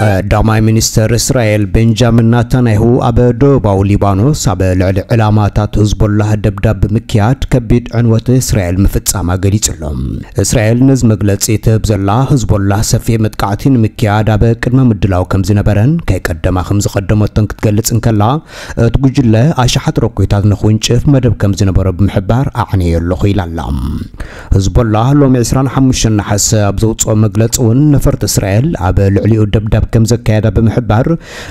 ቀዳማይ ሚኒስተር እስራኤል ቤንጃሚን ናታንያሁ ኣብ ደቡባዊ ሊባኖስ ኣብ ልዕሊ ዕላማታት ህዝቦላህ ደብዳብ ብምክያድ ከቢድ ዕንወት እስራኤል ምፍጻማ ገሊጹ ኣሎ። እስራኤል ነዚ መግለጺ ትህብ ዘላ፣ ህዝቦላህ ሰፊሕ መጥቃዕቲ ንምክያድ ኣብ ቅድመ ምድላው ከም ዝነበረን ከይቀደማ ከም ዝቐደመቶን ክትገልጽ እንከላ፣ እቲ ጉጅለ ኣሽሓት ሮኬታት ንኽውንጭፍ መደብ ከም ዝነበሮ ብምሕባር ኣዕንየ ኣለኹ ኢላ ኣላ። ህዝቦላህ ሎሚ ዕስራን ሓሙሽተን ነሓሰ ኣብ ዘውፅኦ መግለፂ እውን ነፈርቲ እስራኤል ኣብ ልዕሊኡ ደብዳብ ከም ዘካየዳ ብምሕባር፣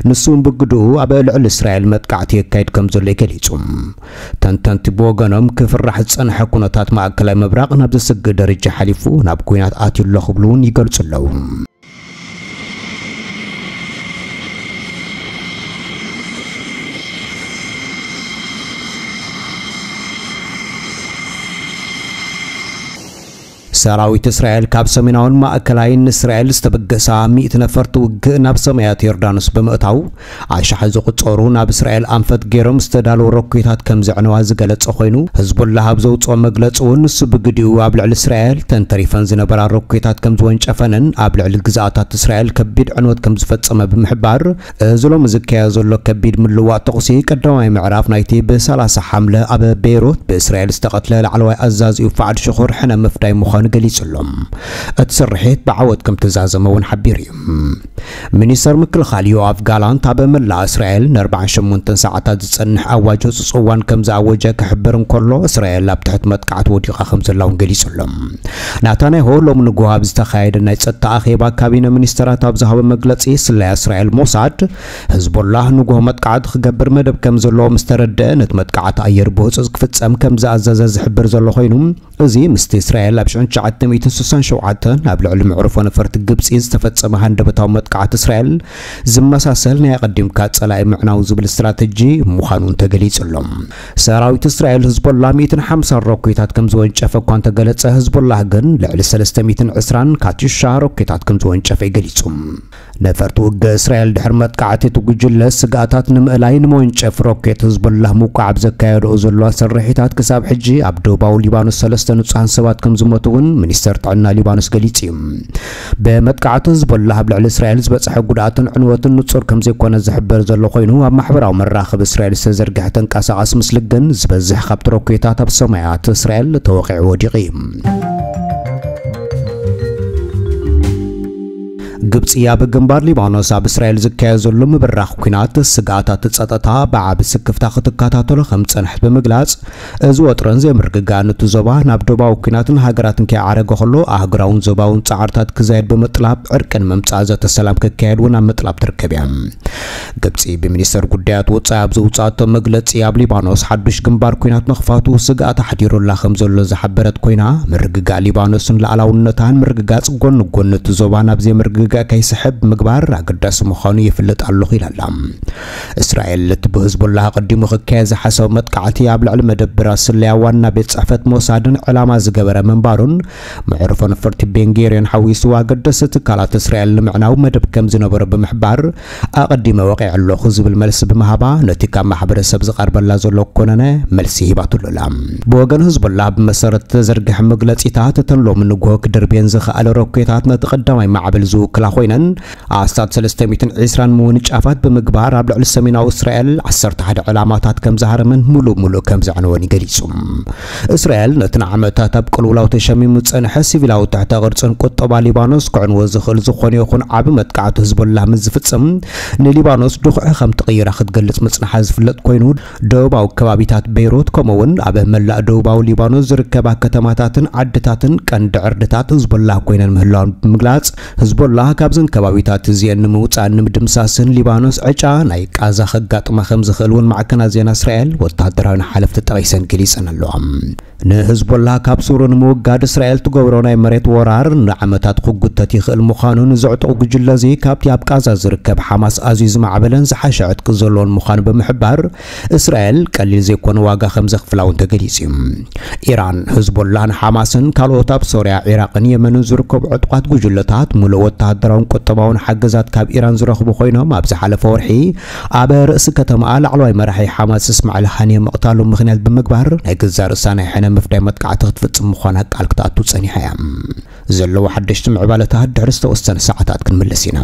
ንሱ እውን ብግድኡ ኣብ ልዕሊ እስራኤል መጥቃዕቲ የካይድ ከም ዘሎ እዩ ገሊጹ። ተንተንቲ ብወገኖም ክፍራሕ ዝጸንሐ ኩነታት ማእከላይ ምብራቕ ናብ ዘስግእ ደረጃ ሓሊፉ ናብ ኲናት ኣትዩ ኣሎ ክብሉ እውን ይገልጹ ኣለዉ። ሰራዊት እስራኤል ካብ ሰሜናውን ማእከላይን እስራኤል ዝተበገሳ ሚእቲ ነፈርቲ ውግእ ናብ ሰማያት ዮርዳኖስ ብምእታው፣ ኣሽሓት ዝቑጸሩ ናብ እስራኤል ኣንፈት ገይሮም ዝተዳለዉ ሮኬታት ከም ዘዕነዋ ዝገለጸ ኮይኑ፣ ህዝቡላህ ኣብ ዘውጽኦ መግለጺ እውን ንሱ ብግዲኡ ኣብ ልዕሊ እስራኤል ተንተሪፈን ዝነበራ ሮኬታት ከም ዝወንጨፈንን ኣብ ልዕሊ ግዝኣታት እስራኤል ከቢድ ዕንወት ከም ዝፈጸመ ብምሕባር፣ እዚ ሎሚ ዝካየድ ዘሎ ከቢድ ምልዋጥ ተኹሲ ቀዳማይ ምዕራፍ ናይቲ ብሰላሳ ሓምለ ኣብ ቤይሩት ብእስራኤል ዝተቐትለ ላዕለዋይ ኣዛዚኡ ፋዓድ ሽኹር ሕነ ምፍዳይ ምዃኑ ገሊጹ ኣሎ። እቲ ስርሒት ብዓወት ከም ተዛዘመ እውን ሓቢሩ እዩ። ሚኒስተር ምክልኻል ዮኣቭ ጋላንት ኣብ መላእ እስራኤል ንኣርባዓን ሸሞንተን ሰዓታት ዝጸንሕ ኣዋጅ ህጹጽ እዋን ከም ዝኣወጀ ክሕብር እንከሎ፣ እስራኤል ኣብ ትሕቲ መጥቃዕቲ ወዲቓ ከም ዘላ እውን ገሊጹ ኣሎ። ናታንያሁ ሎሚ ንግሆ ኣብ ዝተኻየደ ናይ ጸጥታ ኣኼባ ካቢነ ሚኒስተራት ኣብ ዝሃቦ መግለጺ፣ ስለያ እስራኤል ሞሳድ፣ ህዝቦላህ ንግሆ መጥቃዕቲ ክገብር መደብ ከም ዘለዎ ምስ ተረድአ፣ ነቲ መጥቃዕቲ ኣየር ብህጹጽ ክፍጸም ከም ዝኣዘዘ ዝሕብር ዘሎ ኮይኑ፣ እዚ ምስቲ እስራኤል ኣብ ሽሕን ትሽዓተ ሚእትን ስሳን ሸውዓተን ኣብ ልዕሊ መዕርፎ ነፈርቲ ግብጺ ዝተፈጸመ ሃንደበታዊ መጥቃዕቲ እስራኤል ዝመሳሰል ናይ ኣቐዲምካ ጸላኢ ምዕናው ዝብል ስትራተጂ ምዃኑ እውን ተገሊጹ ኣሎ። ሰራዊት እስራኤል ህዝቦላ ሚእትን ሓምሳን ሮኬታት ከም ዝወንጨፈ እኳ እንተገለጸ፣ ህዝቦላህ ግን ልዕሊ ሰለስተ ሚእትን ዕስራን ካትዩሻ ሮኬታት ከም ዝወንጨፈ እዩ ገሊጹ። ነፈርቲ ውግእ እስራኤል ድሕሪ መጥቃዕቲ እቲ ጉጅለ ስግኣታት ንምእላይ ንመወንጨፍ ሮኬት ህዝቦላህ ምውቃዕ ኣብ ዘካየድኦ ዘለዋ ስርሒታት ክሳብ ሕጂ ኣብ ደቡባዊ ሊባኖስ ሰለስተ ንጹሃን ሰባት ከም ዝሞቱ እውን ሚኒስተር ጥዕና ሊባኖስ ገሊጹ እዩ። ብመጥቃዕቲ ህዝቦላህ ኣብ ልዕሊ እስራኤል ዝበጽሐ ጉድኣትን ዕንወትን ንጹር ከም ዘይኮነ ዝሕበር ዘሎ ኮይኑ፣ ኣብ ማሕበራዊ መራኸቢ እስራኤል ዝተዘርግሐ ተንቀሳቓሲ ምስሊ ግን ዝበዝሕ ካብቲ ሮኬታት ኣብ ሰማያት እስራኤል ተወቒዑ ወዲቑ እዩ። ግብጺ ኣብ ግንባር ሊባኖስ ኣብ እስራኤል ዝካየድ ዘሎ ምብራኽ ኲናት ስግኣታት ጸጥታ ብዓቢ ስክፍታ ክትከታተሎ ከም ዝጸንሐት ብምግላጽ፣ እዚ ወጥርን ዘይምርግጋእን እቲ ዞባ ናብ ዶባዊ ኲናትን ሃገራትን ከይዓረገ ከሎ ኣህጉራውን ዞባውን ጻዕርታት ክዛየድ ብምጥላብ ዕርቂ ንምምጻእ ዘተ ሰላም ክካየድ እውን ኣብ ምጥላብ ትርከብ እያ። ግብጺ ብሚኒስተር ጉዳያት ወጻኢ ኣብ ዘውጻእቶ መግለጺ፣ ኣብ ሊባኖስ ሓዱሽ ግንባር ኲናት ምኽፋቱ ስግኣት ኣሕዲሩላ ከም ዘሎ ዝሓበረት ኮይና፣ ምርግጋእ ሊባኖስን ሉዓላውነታን ምርግጋጽ ጎኒ ጎኒ እቲ ዞባ ናብ ዘይምርግጋእ ከይስሕብ ምግባር ኣገዳሲ ምዃኑ ይፍልጥ ኣለኹ ኢላ ኣላ። እስራኤል እቲ ብህዝቦላህ ኣቐዲሙ ክካየድ ዝሓሰበ መጥቃዕቲ ኣብ ልዕሊ መደብራት ስለያ ዋና ቤት ጽሕፈት ሞሳድን ዕላማ ዝገበረ ምንባሩን፣ መዕርፎ ነፈርቲ ቤንጌርዮን ሓዊሱ ኣገደስቲ ትካላት እስራኤል ንምዕናው መደብ ከም ዝነበሮ ብምሕባር፣ ኣቐዲመ ወቒዐ ኣለኹ ዝብል መልሲ ብምሃባ፣ ነቲ ካብ ማሕበረሰብ ዝቐርበላ ዘሎ ኮነነ መልሲ ሂባትሉ ኣላ። ብወገን ህዝቦላህ ብመሰረት ዝተዘርግሐ መግለጺታት፣ እተን ሎሚ ንግሆ ክድርብየን ዝኸኣለ ሮኬታት ነቲ ቀዳማይ ማዕበል ዝውክላ ኮይነን፣ ኣስታት ሰለስተ ሚእትን ዕስራን ምውንጫፋት ብምግባር ኣብ ልዕሊ ሰሜናዊ እስራኤል ዓሰርተ ሓደ ዕላማታት ከም ዝሃረመን ምሉእ ምሉእ ከም ዘዕነወን ገሊጹ። እስራኤል ነቲ ንዓመታት ኣብ ቅልውላው ተሸሚሙ ዝጸንሐ ሲቪላዊ ትሕተ ቅርጽን ቁጠባ ሊባኖስ ክዕንዎ ዝኽእል ዝኾነ ይኹን ዓቢ መጥቃዕቲ ህዝቦላህ ምስ ዝፍጽም፣ ንሊባኖስ ድኹዒ ከም ትቕይራ ክትገልጽ ምጽንሓ ዝፍለጥ ኮይኑ፣ ደቡባዊ ከባቢታት ቤይሩት፣ ከምኡ እውን ኣብ መላእ ደቡባዊ ሊባኖስ ዝርከባ ከተማታትን ዓድታትን ቀንዲ ዕርድታት ህዝቦላህ ኮይነን ምህላወን ብምግላጽ፣ ህዝቦላህ ካብዘን ከባቢታት እዚአን ንምውጻእን ንምድምሳስን ሊባኖስ ዕጫ ናይ ቃዛ ከጋጥማ ከም ዝኽእል እውን ማዕከናት ዜና እስራኤል ወተሃደራውያን ሓለፍቲ ጠቒሰን ገሊጸን ኣለዋ። ንህዝቦላህ ካብ ሱሩ ንምውጋድ እስራኤል ትገብሮ ናይ መሬት ወራር ንዓመታት ክጉተት ይኽእል ምዃኑ ንዘዕጥቑ ጉጅለ እዚ፣ ካብቲ ኣብ ቃዛ ዝርከብ ሓማስ ኣዝዩ ዝማዕበለን ዝሓሸ ዕጥቂ ዘለዎን ምዃኑ ብምሕባር፣ እስራኤል ቀሊል ዘይኮነ ዋጋ ከም ዘኽፍላ እውን ተገሊጹ እዩ። ኢራን፣ ህዝቦላህን ሓማስን ካልኦት ኣብ ሶርያ፣ ዒራቕን የመንን ዝርከቡ ዕጡቓት ጉጅለታት ምሉእ ወተሃደራውን ቁጠባውን ሓገዛት ካብ ኢራን ዝረኽቡ ኮይኖም፣ ኣብ ዝሓለፈ ወርሒ ኣብ ርእሲ ከተማኣ ላዕለዋይ መራሒ ሓማስ እስማዒል ሃኒየ ምቕታሉ ምኽንያት ብምግባር፣ ናይ ገዛእ ርእሳ ናይ ሕነ ምፍዳይ መጥቃዕቲ ክትፍጽም ምዃና ቃል ክትኣቱ ጸኒሓ እያ። ዘለዉ ሓደሽቲ ምዕባለታት ድሕሪ ዝተወሰነ ሰዓታት ክንምለስ ኢና።